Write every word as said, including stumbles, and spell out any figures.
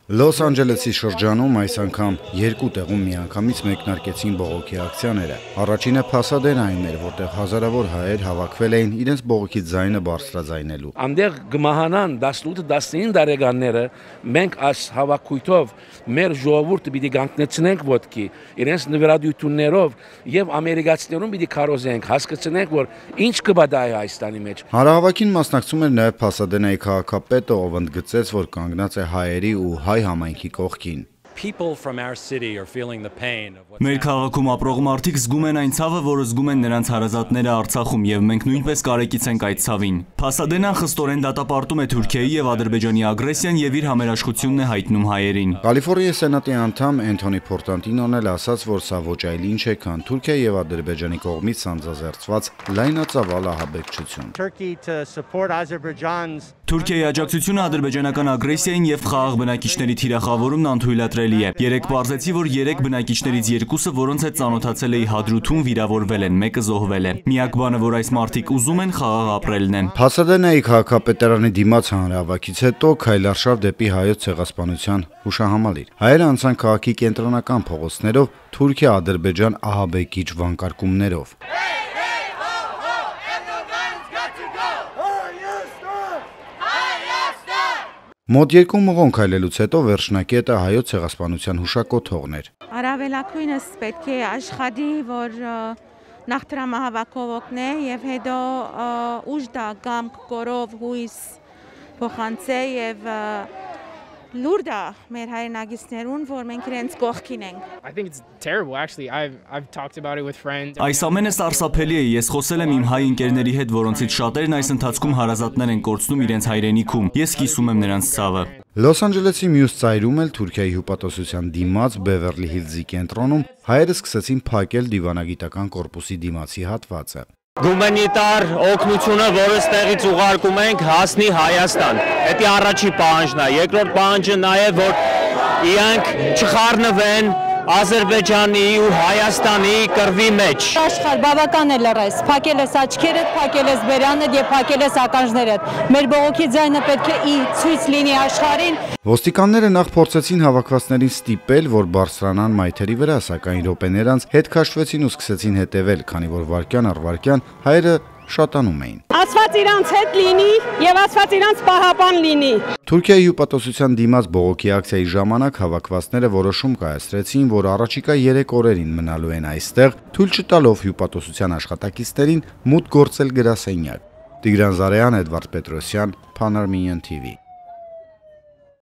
Լոս Անջելեսի շրջանում այս անգամ երկու տեղում միանգամից մեկնարկեցին բողոքի ակցիաները։ Առաջինը Փասադենայում էր, որտեղ հազարավոր հայեր հավաքվել էին իրենց բողոքի ձայնը բարձրաձայնելու։ Անդեղ գմահանան տասնութ տասնինը տարեկանները մենք այս հավաքույթով մեր ժողովուրդը պիտի կանգնեցնենք ոտքի, իրենց նվիրատվություններով եւ ամերիկացիներուն պիտի քարոզենք, հասկացնենք, որ ինչ կբադայի Հայաստանի մեջ։ Հանրահավաքին մասնակցում էր նաեւ Փասադենայի քաղաքապետը, ով ընդգծեց, որ կանգնած է հայերի ու հայ համայնքի կողքին։ Մեր քաղաքում ապրող մարդիկ զգում են այն ցավը, որը զգում են նրանց հարազատները Արցախում, եւ մենք նույնպես կարեկից ենք այդ ցավին։ Փասադենան խստորեն դատապարտում է Թուրքիայի եւ Ադրբեջանի ագրեսիան եւ իր համերաշխությունն է հայտնում հայերին։ Կալիֆոռնիայի սենատի անդամ Էնթոնի Փորտանտինոն էլ ասաց, որ սա ոչ այլ ինչ է, քան Թուրքիայի եւ Ադրբեջանի կողմից սանձազերծված լայնածավալ ահաբեկչություն։ Թուրքիայի աջակցությունը ադրբեջանական ագրեսիային եւ խաղաղ բնակիչների թիրախավորումն անթույլատրելի է։ Երեք պարզեցի, որ երեք բնակիչներից երկուսը, որոնց հետ ծանոթացել էի Հադրութում, վիրավորվել են, մեկը զոհվել է։ Միակ բանը, որ այս մարդիկ ուզում են, խաղաղ ապրելն է։ Փասադենայի քաղաքապետարանի դիմաց հանրահավաքից հետո քայլարշավ դեպի հայոց ցեղասպանության հուշահամալիր։ Հայերը անցան քաղաքի կենտրոնական փողոցներով Թուրքիա-Ադրբեջան ահաբեկիչ վանկարկումներով։ Մոտ երկու մղոն քայլելուց հետո վերջնակետը հայոց ցեղասպանության հուշակոթողն էր։ Առավելակույնս պետք է աշխատի, որ նախ տրամահավաքով օգնե եւ հետո ուժ դա կամք կորով հույս փոխանցե եւ լուրդա մեր հայրենագիցներուն, որ մենք իրենց կողքին ենք։ Այս ամենը սարսափելի է, ես խոսել եմ իմ հայ ընկերների հետ, որոնցից շատերն այս ընթացքում հարազատներ են կորցնում իրենց հայրենիքում։ Ես կիսում եմ նրանց ցավը։ Լոս Անջելեսի մյուս ծայրում էլ Թուրքիայի հյուպատոսության դիմաց Բևերլի Հիլզի կենտրոնում հայերը սկսեցին փակել դիվանագիտական կորպուսի դիմացի հատվածը։ Գումենիտար օգնությունը, որը ստեղից ուղարկում ենք, հասնի Հայաստան։ Դա առաջի պահանջն է։ Երկրորդ պահանջը նա է, որ իրանք չխառնվեն Ադրբեջանի ու Հայաստանի կռվի մեջ։ Աշխարհ բավական է լռես, փակել ես աչքերդ, փակել ես բերանդ եւ փակել ես ականջներդ։ Մեր բողոքի ձայնը պետք է ի ցույց լինի աշխարհին։ Ոստիկանները նախ փորձեցին հավաքվածներին ստիպել, որ բարձրանան մայթերի վրա, սակայն րոպեներ անց հետ քաշվեցին ու սկսեցին հետևել, քանի որ վարքյան առ վարքյան հայերը շատանում էին։ Ասված իրանց հետ լինի եւ ասված իրանց պահապան լինի։ Թուրքիայի հյուպատոսության դիմաց բողոքի ակցիայի ժամանակ հավաքվածները որոշում կայացրեցին, որ առաջիկա երեք օրերին մնալու են այստեղ, թույլ չտալով հյուպատոսության աշխատակիցներին մուտք գործել գրասենյակ։ Տիգրան Զարեյան, Էդվարդ Պետրոսյան, Pan Armenian T V։